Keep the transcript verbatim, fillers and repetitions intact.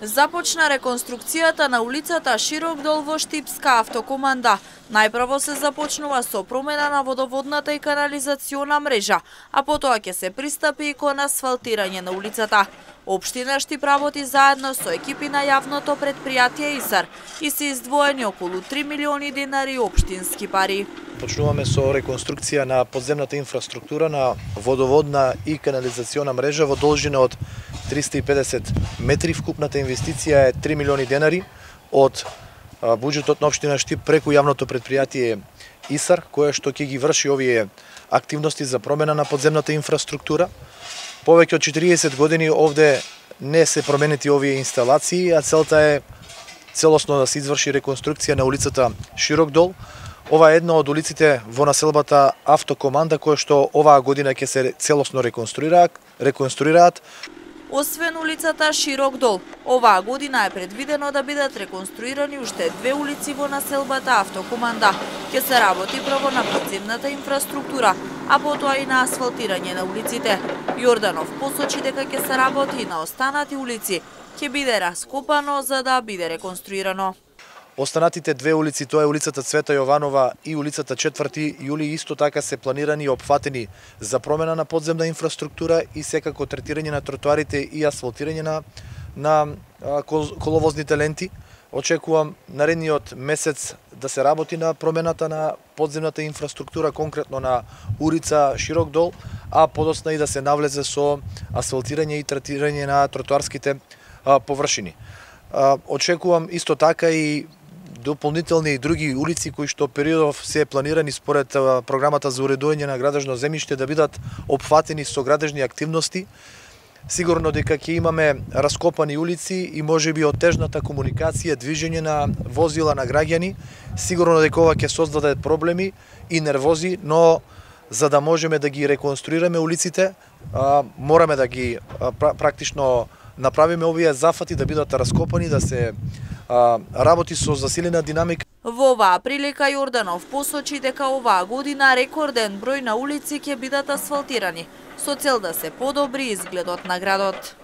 Започна реконструкцијата на улицата Широк дол во Штипска автокоманда. Најпрво се започнува со промена на водоводната и канализациона мрежа, а потоа ќе се пристапи и кон асфалтирање на улицата. Општина Штип работи заедно со екипи на јавното предпријатие ИСАР и се издвоени околу три милиони денари општински пари. Почнуваме со реконструкција на подземната инфраструктура на водоводна и канализациона мрежа во должина од триста и педесет метри. Вкупната инвестиција е три милиони денари од буџетот на општина Штип преку јавното предпријатие ИСАР, кое што ќе ги врши овие активности за промена на подземната инфраструктура. Повеќе од четириесет години овде не се променети овие инсталации, а целта е целосно да се изврши реконструкција на улицата Широк дол. Ова е една од улиците во населбата Автокоманда која што оваа година ќе се целосно реконструираат, реконструираат. Освен улицата Широк дол, оваа година е предвидено да бидат реконструирани уште две улици во населбата Автокоманда. Ќе се работи прво на подземната инфраструктура, а потоа и на асфалтирање на улиците. Јорданов посочи дека ќе се работи и на останати улици, ќе биде раскопано за да биде реконструирано. Останатите две улици, тоа е улицата Цвета Јованова и улицата четврти јули, исто така се планирани и опфатени за промена на подземна инфраструктура и секако третирање на тротоарите и асфалтирање на, на коловозните ленти. Очекувам наредниот месец да се работи на промената на подземната инфраструктура, конкретно на улица Широк дол, а подосна и да се навлезе со асфалтирање и третирање на тротоарските површини. Очекувам исто така и дополнителни и други улици кои што периодов се планирани според програмата за уредување на градежно земјиште да бидат опфатени со градежни активности. Сигурно дека ќе имаме раскопани улици и можеби отежната комуникација, движење на возила на граѓани. Сигурно дека ова ќе создаде проблеми и нервози, но за да можеме да ги реконструираме улиците, мораме да ги практично направиме овие зафати да бидат раскопани, да се а, работи со засилена динамика. Во оваа прилика Јорданов посочи дека оваа година рекорден број на улици ќе бидат асфалтирани со цел да се подобри изгледот на градот.